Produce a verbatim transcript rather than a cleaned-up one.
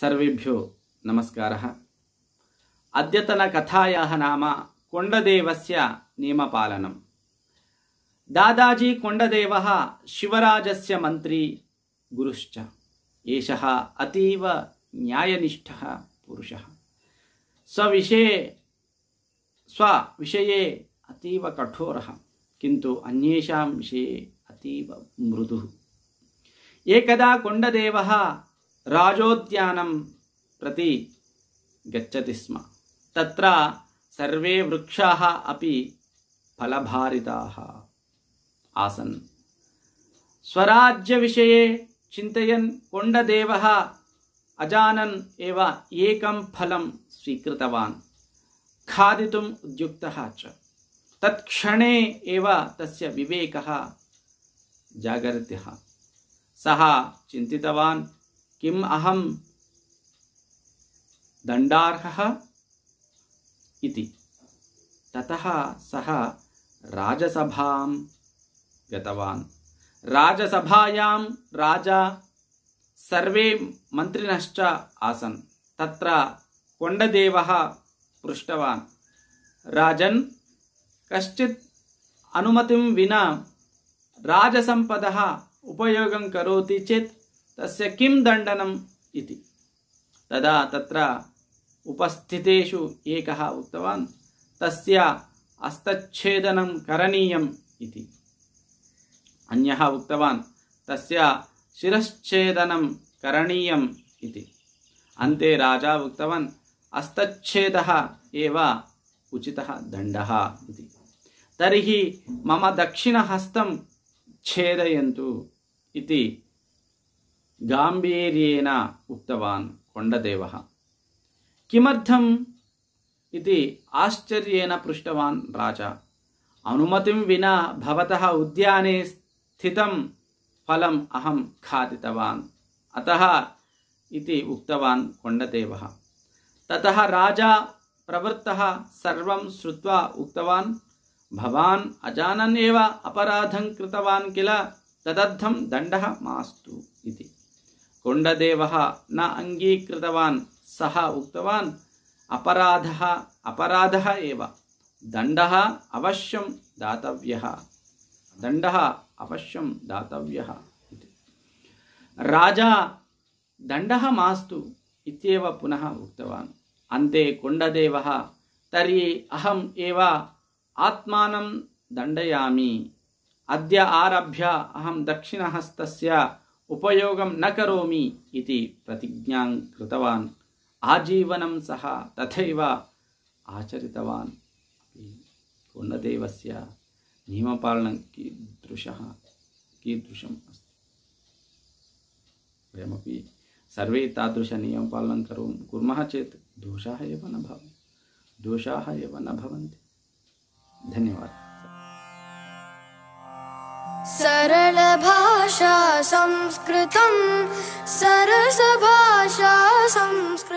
सर्वेभ्यो नमस्कारः। अद्यतनकथायाः नाम कोण्डदेवस्य नियमपालनम्। दादाजी कोण्डदेवः शिवराजस्य मन्त्री गुरुश्च। एषः अतीव न्यायनिष्ठः पुरुषः। स्वविषये स्वविषये अतीव कठोरः, किन्तु अन्येषां विषये अतीव मृदुः। एकदा कोण्डदेवः राजोद्यानं प्रति गच्छति स्म। तत्र सर्वे वृक्षाः अपि फलभारिताः आसन्। स्वराज्यविषये चिन्तयन् कोण्डदेवः अजानन् एव एकं फलं स्वीकृतवान्। खादितुम् उद्युक्तः च। तत्क्षणे एव तस्य विवेकः जागरितः। सः चिन्तितवान्, किम् अहं दण्डार्हः इति। ततः सः राजसभां गतवान्। राजसभायां राजा सर्वे मन्त्रिणश्च आसन्। तत्र कोण्डदेवः पृष्टवान्, राजन्, कश्चित् अनुमतिं विना राजसम्पदः उपयोगं करोति चेत् तस्य किं दण्डनम् इति। तदा तत्र उपस्थितेषु एकः उक्तवान्, तस्य हस्तच्छेदनं करणीयम् इति। अन्यः उक्तवान्, तस्य शिरश्छेदनं करणीयम् इति। अन्ते राजा उक्तवान्, हस्तच्छेदः एव उचितः दण्डः इति। तर्हि मम दक्षिणहस्तं छेदयन्तु इति गाम्भीर्येण उक्तवान् कोण्डदेवः। किमर्थम् इति आश्चर्येण पृष्टवान् राजा। अनुमतिं विना भवतः उद्याने स्थितं फलम् अहं खादितवान्, अतः इति उक्तवान् कोण्डदेवः। ततः राजा प्रवृत्तः सर्वं श्रुत्वा उक्तवान्, भवान् अजानन् एव अपराधं कृतवान् किल, तदर्थं दण्डः मास्तु इति। कोण्डदेवः न अङ्गीकृतवान्। सः उक्तवान्, अपराधः अपराधः एव, दण्डः अवश्यं दातव्यः, दण्डः अवश्यं दातव्यः इति। राजा दण्डः मास्तु इत्येव पुनः उक्तवान्। अन्ते कोण्डदेवः, तर्हि अहम् एव आत्मानं दण्डयामि। अद्य आरभ्य अहं दक्षिणहस्तस्य उपयोगं न करोमि इति प्रतिज्ञां कृतवान्। आजीवनं सः तथैव आचरितवान्। कोण्डदेवस्य नियमपालनं कीदृशः कीदृशम् अस्ति। वयमपि सर्वे तादृशनियमपालनं करोमि कुर्मः चेत् दोषाः एव न भवन्ति दोषाः एव न भवन्ति। धन्यवादः। सरल भाषा संस्कृतं, सरस भाषा संस्कृतं।